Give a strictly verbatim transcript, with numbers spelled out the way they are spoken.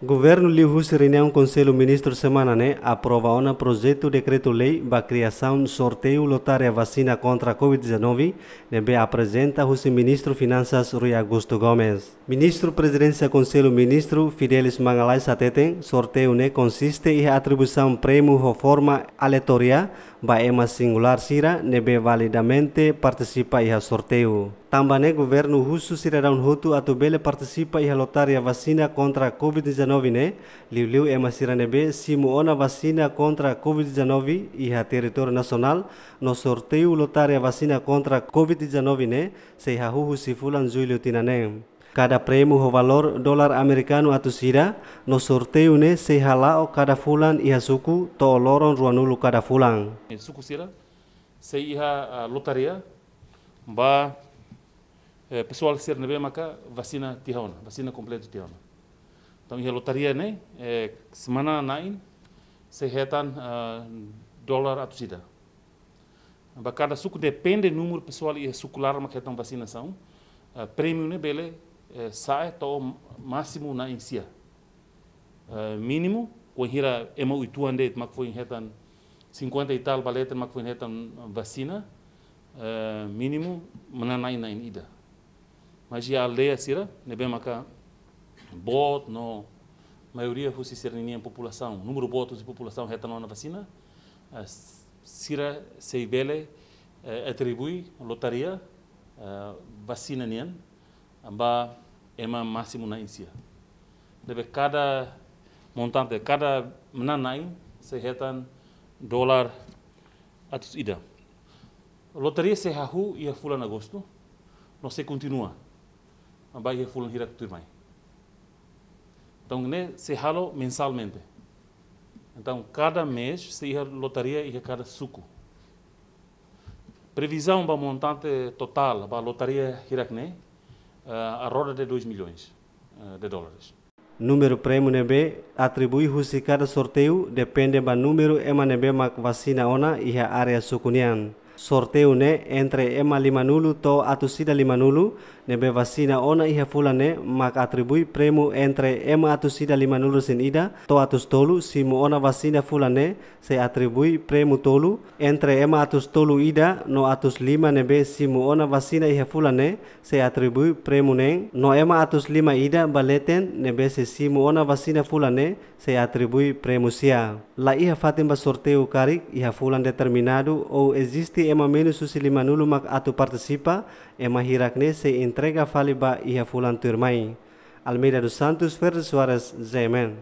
Governu liuhusi reuniaun Konsellu Ministru semana ne'e aprova ona projetu dekretu-lei ba kriasaun sorteiu lotaria vasina kontra COVID dezanove, ne'ebé aprezenta husi Ministru Finansas Rui Augusto Gomes. Ministru Prezidénsia Konsellu Ministru Fidelis Magalhães hateten, sorteiu ne'e konsiste iha atribuisaun prémiu ho forma aleatoria ba ema singulár sira ne'ebé validamente partisipa iha sorteiu. Tanba ne'e governu husu sidadaun hotu atu bele partisipa iha lotaria vasina kontra COVID dezanove ne'e, liuliu ema sira ne'ebé simu ona vasina kontra COVID dezanove iha territóriu nasionál, no sorteiu lotaria vasina kontra COVID dezanove ne'e sei hahú husi fulan Jullu tinan ne'e. Kada prémiu ho valór dolar amerikanu atus ida, no sorteiu ne'e sei hala'o kada fulan iha suku to'o loron ruanulu kada fulan. Suku sira sei iha, ah, lotaria ba, eh, pesoál sira ne'ebé maka vasina tiha ona, vasina kompletu tiha ona. Entaun, iha lotaria ne'e, eh, semana na'in sei hetan, ah, dolar atus ida. Ba kada suku, depende númeru pesoál iha suku laran mak hetan vasinasaun, ah, prémiu ne'e bele, eh, sa'e to'o másimu na'in sia. Eh, mínimu, wainhira ema uitoan de'it mak foin hetan cinquenta e tal ba leten mak foin hetan vasina, eh, mínimu manán na'in na'in ida. Mas iha aldeia sira ne'ebé maka boot no maioria husi sira-ninia populasaun, númeru boot husi populasaun hetan ona vasina, eh, sira sei bele, eh, atribui lotaria, eh, vasina nian ba ema másimu na'in sia. Ne'ebé kada montante, kada manán na'in sei hetan dolar atus ida. Lotaria sei hahú iha fulan Agostu, no sei kontinua ba iha fulan hirak tuirmai. Entaun, ne'e sei halo mensalmente. Entaun, kada mês sei iha lotaria iha kada suku. Previzaun ba montante totál ba lotaria hirak ne'e, eh, à roda de dois milhões, eh, de dólares. Númeru prémiu ne'ebé atribui husi kada sorteiu depende ba númeru ema ne'ebé mak vasina ona iha área suku nian. Sorteiu ne'e entre ema limanulu to'o atus ida limanulu ne'ebé vasina ona iha fulan ne'e mak atribui prémiu entre ema atus ida limanulu resin ida to'o atus tolu simu ona vasina fulan ne'e sei atribui prémiu tolu, entre ema atus tolu ida no atus lima ne'ebé simu ona vasina iha fulan ne'e sei atribui prémiu neen, no ema atus lima ida ba leten ne'ebé sei simu ona vasina fulan ne'e sei atribui prémiu sia. La iha fatin ba sorteiu karik iha fulan determinadu ou eziste ema menus husi limanulu mak atu partisipa, ema hirak ne'e sei entrega fali ba iha fulan tuirmai. Almeida dos Santos, Ferdi Soares, Z M N.